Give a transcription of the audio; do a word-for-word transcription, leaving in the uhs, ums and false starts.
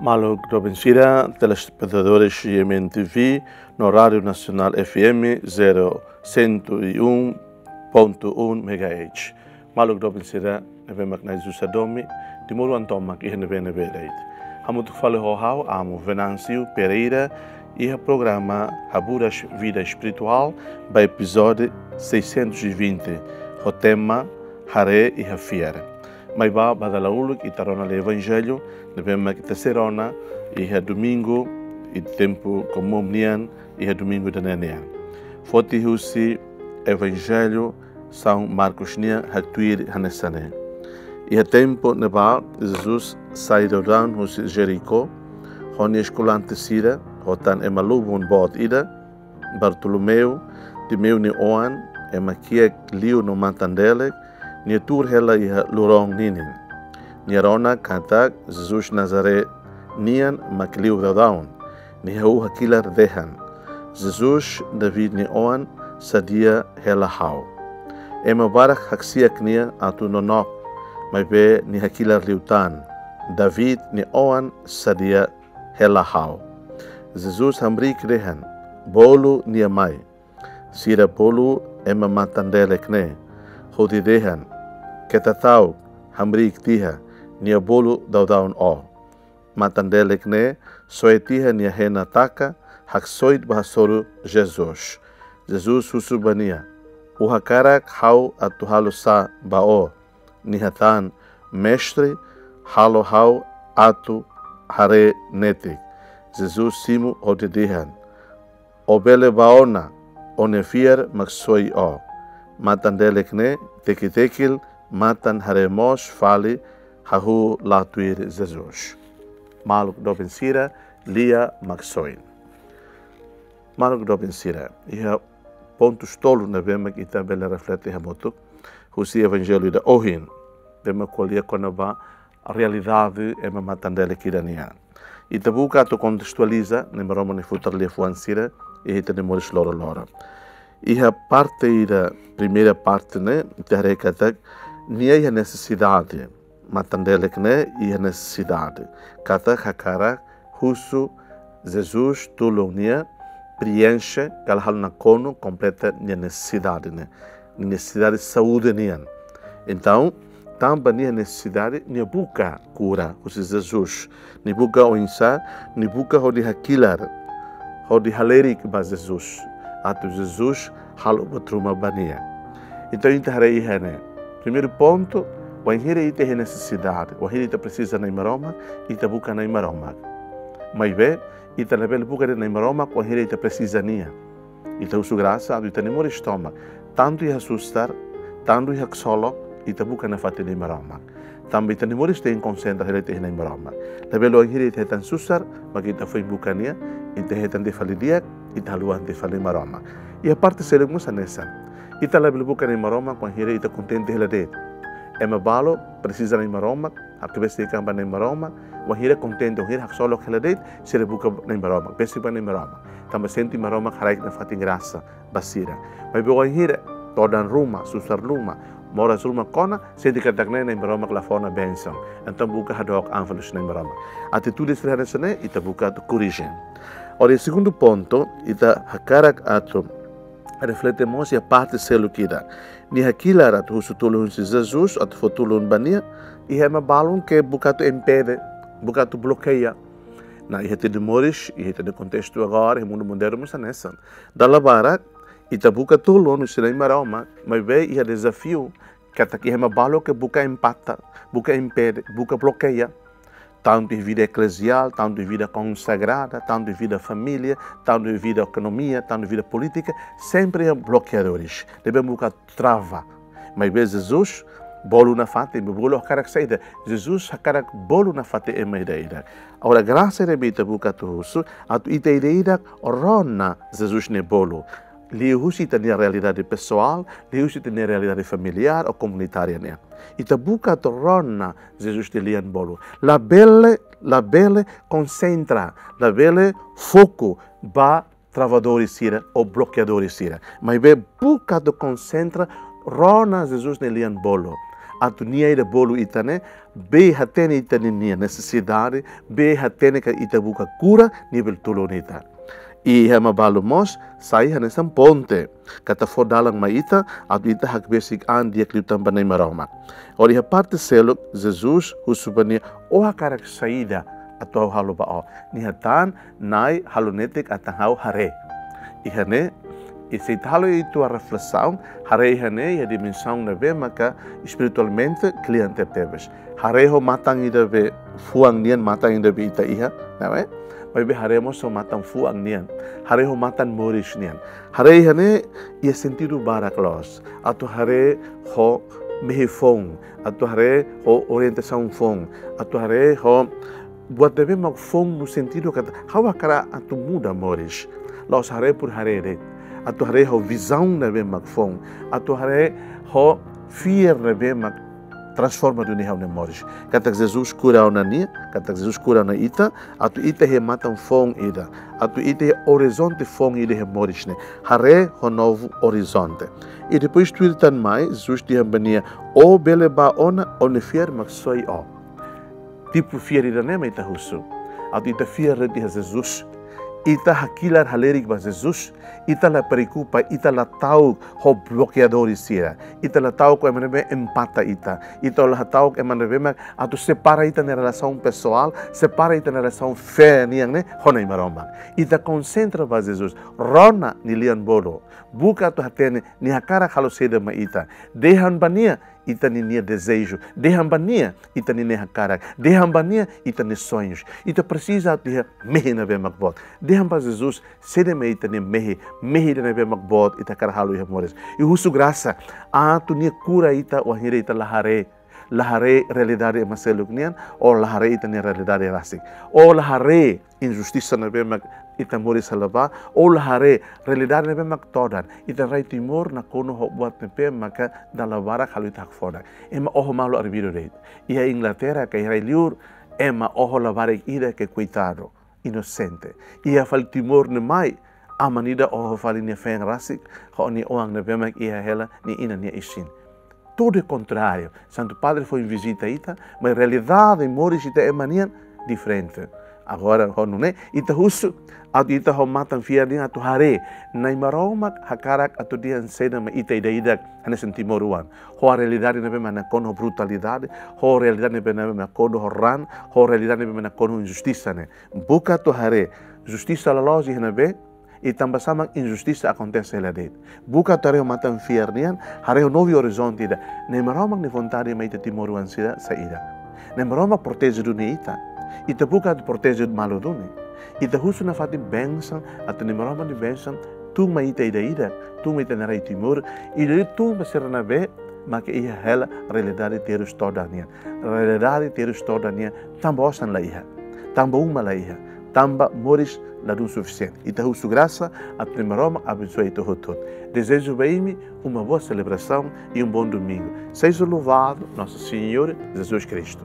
Maluk doben sira, telespetadores G M N T V, no Rádio Nacional F M zero cento e um ponto um megahertz. Maluk doben sira, ne'ebé mak Na'i Jesus hadomi, timoroan tomak iha ne'ebé-ne'ebé de'it. Hamutuk fali ho ha'u, Amo Venâncio Pereira, iha programa Haburas Vida Espiritual, ba epizódiu seiscentos e vinte, ho tema Haree iha Fiar. Mai ba, ba dala uluk ita rona lia Evanjellu, ne'ebé mak ita sei rona iha domingu, iha tempu komún nian, iha domingu ida-ne'e nian. Foti husi Evanjellu São Marcos nian, haktuir hanesan ne'e. Iha tempu ne'ebá, Jesus sai daudaun husi Jericó, ho nia eskolante sira, ho tan ema lubun boot ida, Bartolomeu, Timeu nia oan, ema kiak liu no matan-delek, nia tuur hela iha loron ninin. Nia rona katak Jesus Nazaré nian mak liu daudaun. Nia hahú hakilar dehan: "Jesus, David nia oan, sadia hela ha'u." Ema barak haksi'ak nia atu nonook, maibé nia hakilar liután: "David nia oan, sadia hela ha'u." Jesus hamriik dehan: "Bolu nia mai." Sira bolu ema matan-delek ne'e, hodi dehan: "Keta ta'uk, hamriik tiha, nia bolu daudaun ó." Matan-delek ne'e soe tiha nia hena taka, haksoit ba hasoru Jesus. Jesus husu ba nia: "Ó hakarak ha'u atu halo sá ba ó?" Nia hatán: "Mestre, halo ha'u atu haree netik." Jesus simu hodi dehan: "Ó bele bá ona, ó-nia fiar mak soe ó." Matan-delek ne'e teki-tekil, matan haree moos fali, hahú la tuir Jesus. Maluk doben sira, lia Maksoin. Maluk doben sira, iha pontus tolu ne'ebé mak ita bele reflete hamutuk husi Evanjellu ida ohin, ne'ebé mak ko'alia kona-ba realidade ema matan-delek ida nian. Ita buka atu kontestualiza Na'i Maromak nia futar liafuan sira iha ita-nia moris loroloron. Iha parte ida, primeira parte ne'e, ita haree katak nia iha nesesidade. Matan-delek ne'e iha nesesidade. Katak hakarak husu Jesus tulun nia, preenxe, ka lae, halo nakonu, kompleta nia nesesidade ne'e. Nesesidade saúde nian. Entaun, tanba nia nesesidade, nia buka kura husi Jesus. Nia buka oinsá, nia buka hodi hakilar, hodi halerik ba Jesus, atu Jesus halo buat ruma ba nia. Entaun, ita haree iha ne'e. Primeiru pontu, wainhira ita iha nesesidade, wainhira ita presiza Na'i Maromak, ita buka Na'i Maromak. Maibé, ita labele buka de'it Na'i Maromak wainhira ita presiza nia. Ita husu grasa atu ita-nia moris tomak, tantu iha susar, tantu iha ksolok, ita buka nafatin Na'i Maromak. Tanba ita-nia moris tenke konsentra hela iha Na'i Maromak. Labele wainhira ita hetan susar, mak ita foin buka nia, ita hetan tiha fali di'ak, ita haluha tiha fali Maromak. Iha parte seluk mós hanesan. Ita labele buka Na'i Maromak wainhira ita kontente hela de'it. Ema balu presiza Na'i Maromak, atu besik an ba Na'i Maromak, wainhira kontente, wainhira haksolok hela de'it, sira buka Na'i Maromak, besik ba Na'i Maromak. Tanba sente Maromak haraik nafatin grasa ba sira. Maibé wainhira todan ruma, susar ruma, moras ruma kona, sente katak ne'e Na'i Maromak la fó ona bensaun. Entaun buka hadook an fali husi Na'i Maromak. Atitude sira hanesan ne'e, ita buka atu korrije. Agora, segundu pontu, ita hakarak atu reflete mós iha parte seluk ida. Nia hakilar atu husu tulun husi Jesus, atu fó tulun ba nia, iha ema balun ke buka atu impede, buka atu blokeia. Nah, iha ita-nia moris, iha ita-nia kontestu agora, iha mundu modernu mós hanesan. Dala barak, ita buka tulun husi Na'i Maromak, maibé iha dezafiu, katak iha ema balu ke buka empata, buka impede, buka blokeia. Tantu iha vida ekleziál, tantu iha vida konsagrada, tantu iha vida família, tantu iha vida ekonomia, tantu iha vida polítika, sempre iha blokeadores. Ne'ebé buka trava. Maibé Jesus bolu nafatin, bolu hakarak saida? Jesus hakarak bolu nafatin ema ida-idak. Agora, grasa ne'ebé ita buka atu husu, atu ita ida-idak rona Jesus nia bolu. Liuhusi ita-nia realidade pesoál, liuhusi ita-nia realidade familiár ou komunitária nian. Ita buka atu rona Jesus nia lian bolu. Labele, labele konsentra, labele foku ba travadores sira ou blokeadores sira. Maibé buka atu konsentra, rona Jesus nia lian bolu. atu nia ida bolu ita ne'e, bele hatene ita-nia nesesidade, bele hatene katak ita buka kura, nia bele tulun ita. I ema balu mós sai hanesan ponte, katak fó dalan mai ita, atu ita hakbesik an di'ak liután ba Nai Maromak. Hodi iha parte seluk, Jesus husu ba nia, ó hakarak saida atu ha'u halo ba ó? Nia hatán, Nai, halo netik atu ha'u haree. Iha ne'e, i se ita halo ita-nia reflesaun, haree iha ne'e iha dimensaun ne'ebé maka espiritualmente kle'an tebetebes. Haree ho matan ida be fuan nian, matan ida be ita iha, ne'e? Maibé haree mós ho matan fuan nian. Haree ho matan moris nian. Haree iha ne'e iha sentidu barak loos. Atu haree ho mehi foun, atu haree ho orientasaun foun, atu haree ho buat ne'ebé mak foun no sentidu katak ha'u hakarak atu muda moris. La'ós haree por haree de'it. Atu haree ho vizaun ne'ebé mak foun. Atu haree ho fiar ne'ebé mak transforma duni ha'u-nia moris. Katak Jesus kura ona nia, katak Jesus kura ona ita, atu ita iha matan foun ida, atu ita iha orizonte foun ida iha moris ne'e. Haree ho novu orizonte. I depois tuir tan mai, Jesus dehan ba nia, ó bele bá ona, ó-nia fiar mak soi ó. Tipu fiar ida-ne'e mak ita husu. Atu ita fiar de'it iha Jesus. Ita hakilar halerik ba Jesus. Ita la preokupa, ita la ta'uk ho blokeadór sira. Ita la ta'uk ho ema ne'ebé empata ita. Ita la ta'uk ho ema ne'ebé mak atu separa ita-nia relasaun pesoál, separa ita-nia relasaun fé nian ne'e ho Nai Maromak. Ita konsentra ba Jesus. Rona nia lian-bolu. Buka atu hatene nia hakarak halo saida mai ita. Dehan ba nia ita-nia, nia dezeju. Dehan ba nia ita-nia, nia hakarak. Dehan ba nia ita-nia soñus. Ita presiza atu iha mehi ne'ebé mak boot. Dehan ba Jesus saida mak ita-nia mehi, mehi ida ne'ebé mak boot ita hakarak halo iha moris. I husu grasa atu nia kura ita wainhira ita la haree, la haree realidade ema seluk nian, ou la haree ita-nia realidade rasik. Ou la haree injustisa ne'ebé mak ita moris hela ba, ou la haree realidade ne'ebé mak todan. Ita rai Timor nakonu ho buat ne'ebé maka dala barak halo ita hakfodak. Ema oho malu arbiru de'it. Iha Inglaterra ka iha rai-liur, ema oho labarik ida ke koitadu, inosente. Iha fali Timor ne'e mai, aman ida oho fali nia feen rasik, ho nia oan ne'ebé mak iha hela nia inan nia isin. Tudo é contrário. Santu Padre foin vizita ita, mas realidade moris ita ema nian diferente. Agora, ho nune'e, ita husu, atu ita ho matan fiar nian atu haree, Nai Maromak hakarak atu dehan saida mai ita ida-idak, hanesan timoroan. Ho realidade ne'ebé mak nakonu ho brutalidade, ho realidade ne'ebé mak nakonu ho raan, ho realidade ne'ebé mak nakonu ho injustisa ne'e. Buka atu haree, justisa loloos iha ne'ebé, i tanbasá mak injustisa akontese hela de'it. Buka atu haree ho matan fiar nian, haree ho novu orizonte ida. Nai Maromak nia vontade mai ita timoroan sira saida? Nai Maromak proteje duni ita. Ita buka atu proteje malu duni. Ita husu nafatin bensaun, atu Nai Maromak nia bensaun tun mai ita ida-idak, tun mai ita-nia rai Timor, i tun ba sira ne'ebé maka iha hela realidade terus todan nian. Realidade terus todan nian, tanba osan la iha, tanba uma la iha, tanba moris ladún sufisiente. Ita husu grasa atu Nai Maromak abensoa ita hotu-hotu. Dezeju ba imi uma boa celebração e um bom domingo. Seja louvado nosso Senhor Jesus Cristo.